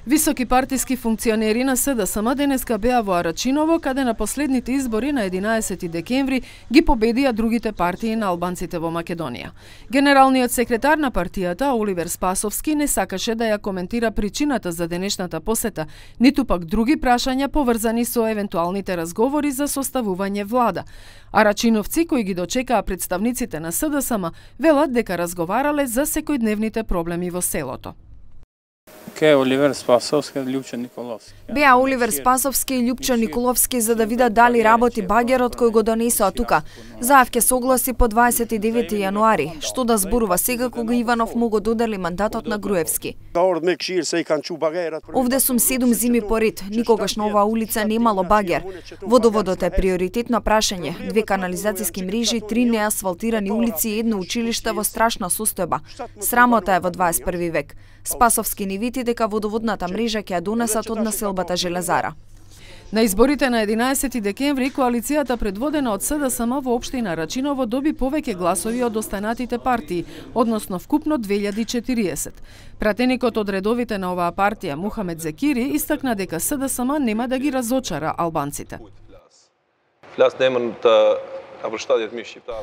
Високи партиски функционери на СДСМ денеска беа во Арачиново, каде на последните избори на 11 декември ги победија другите партии на албанците во Македонија. Генералниот секретар на партијата, Оливер Спасовски, не сакаше да ја коментира причината за денешната посета, ниту пак други прашања поврзани со евентуалните разговори за составување влада. Арачиновци кои ги дочекаа представниците на СДСМ велат дека разговарале за секојдневните проблеми во селото. Беа Оливер Спасовски и Љупчо Николовски за да видат дали работи багерот кој го донесоа тука. Заев ќе согласи по 29 јануари, што да зборува сега кога Иванов му го додели мандатот на Груевски. Овде сум 7 зими поред, никогаш на оваа улица немало багер. Водоводот е приоритетно прашање, 2 канализацијски мрежи, 3 неасфалтирани улици и едно училиште во страшна состојба. Срамота е во 21 век. Спасовски ни вети дека водоводната мрежа ќе ја донесат од населбата Железара. На изборите на 11 декември коалицијата предводена од СДСМ во општина Рачиново доби повеќе гласови од останатите партии, односно вкупно 2040. Пратеникот од редовите на оваа партија Мухамед Зекири истакна дека СДСМ нема да ги разочара албанците.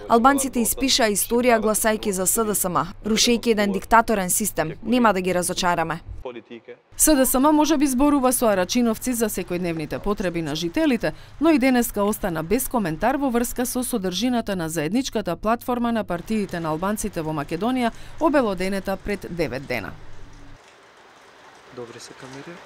Албанците испишаа историја гласајќи за СДСМ, рушејќи еден диктаторен систем. Нема да ги разочараме. СДСМ можеби зборува со арачиновци за секојдневните потреби на жителите, но и денеска остана без коментар во врска со содржината на заедничката платформа на партиите на албанците во Македонија, обелоденета пред 9 дена. Добри се камери.